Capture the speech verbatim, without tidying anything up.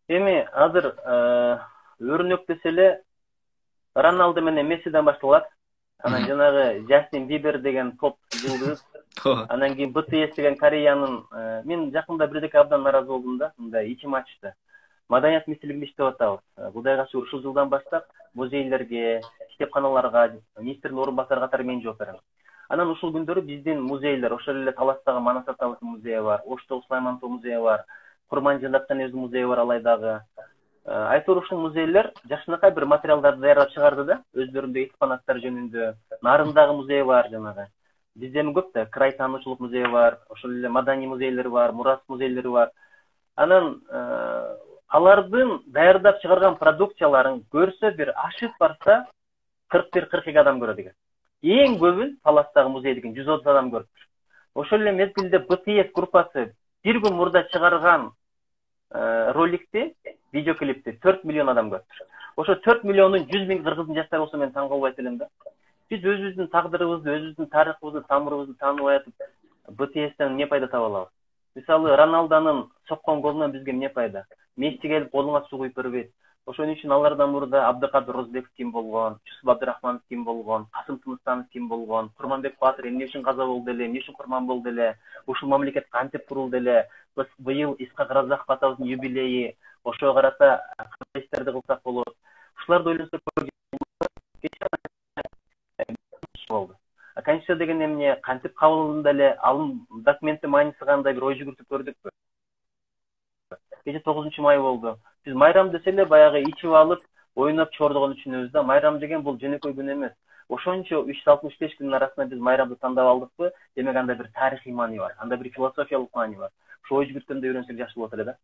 Эми азыр өрнөк десе эле Роналдо менен Мессиден башталат. Анан жанагы Джастин Бибер деген поп жылдыз. Анан кийин би ти эс деген Кореянын, мен жакында бирдеке абдан нааразы болдум да, мындай ичим ачты. Маданият министрлигинде иштеп атабыз. Кудайга шүгүр ушул жылдан баштап музейлерге, китепканаларга, министрдин орун басары катары мен жооп берем. Анан ушул күндөрү биздин музейлер, ошол эле Таластагы Манас атабыздын музейи бар, Оштогу Сулаймантоо музейи бар, Курманжылда Канебиздин музейи бар Алайдагы. Айтор ушул музейлер жакшынакай бир материалдарды даярдап чыгарды да, өздөрүндө экспонаттар жөнүндө. Нарындагы музей бар жанагы. Бизде эми көп да, край таануучулук музеи бар, ошол эле маданий музейлери бар, мурас музейлери бар. Анан алардын даярдап чыгарган продукцияларын көрсө бир ашып барса кырк бир кырк эки адам көрөт экен. Эң көбүн Таластагы музейдикин жүз отуз адам көрүптүр. Ошол эле мезгилде би ти эс группасы бир күн мурда чыгарган роликти, видеоклипти төрт миллион адам көрүптүр. Ошо төрт миллиондун жүз миң кыргыздын жаштары болсо мен таң калбайт элем да. Биз өзүбүздүн тагдырыбызды, өзүбүздүн тарыхыбызды, тамырыбызды тааныбай атып, би ти эстен эмне пайда таба алабыз? Мисалы, Роналдонун соккон голунан бизге эмне пайда? Месси келип колуңа суу куюп бербейт. Ошон үчүн алардан мурда Абдыкадыр Розбеков ким болгон, Жусуп Абдырахманов ким болгон, Касым Тыныстанов ким болгон, Курманбек Батыр эмне үчүн каза болду эле, эмне үчүн курман болду эле, ушул мамлекет кантип курулду эле, биз быйыл Исхак Разаков атабыздын юбилейи, ошого карата кандай иштерди кылсак болот. Ушуларды ойлонсок болду. Конституция деген эмне, кантип кабыл алынды эле, алым документтин мааниси кандай, бир ой жүгүртүп көрдүкпү? Кече тогузунчу май болду. Биз майрам десе эле баягы ичип алып, ойноп чордогон үчүнөбүз да. Майрам деген бул жөнөкөй күн эмес. Ошончо үч жүз алтымыш беш күнүн арасында биз майрамды тандап алдыкпы? Демек анда бир тарыхый маани бар, анда бир философиялык маани бар. Ошо ой жүгүрткөндө үйрөнсөк жакшы болот эле да.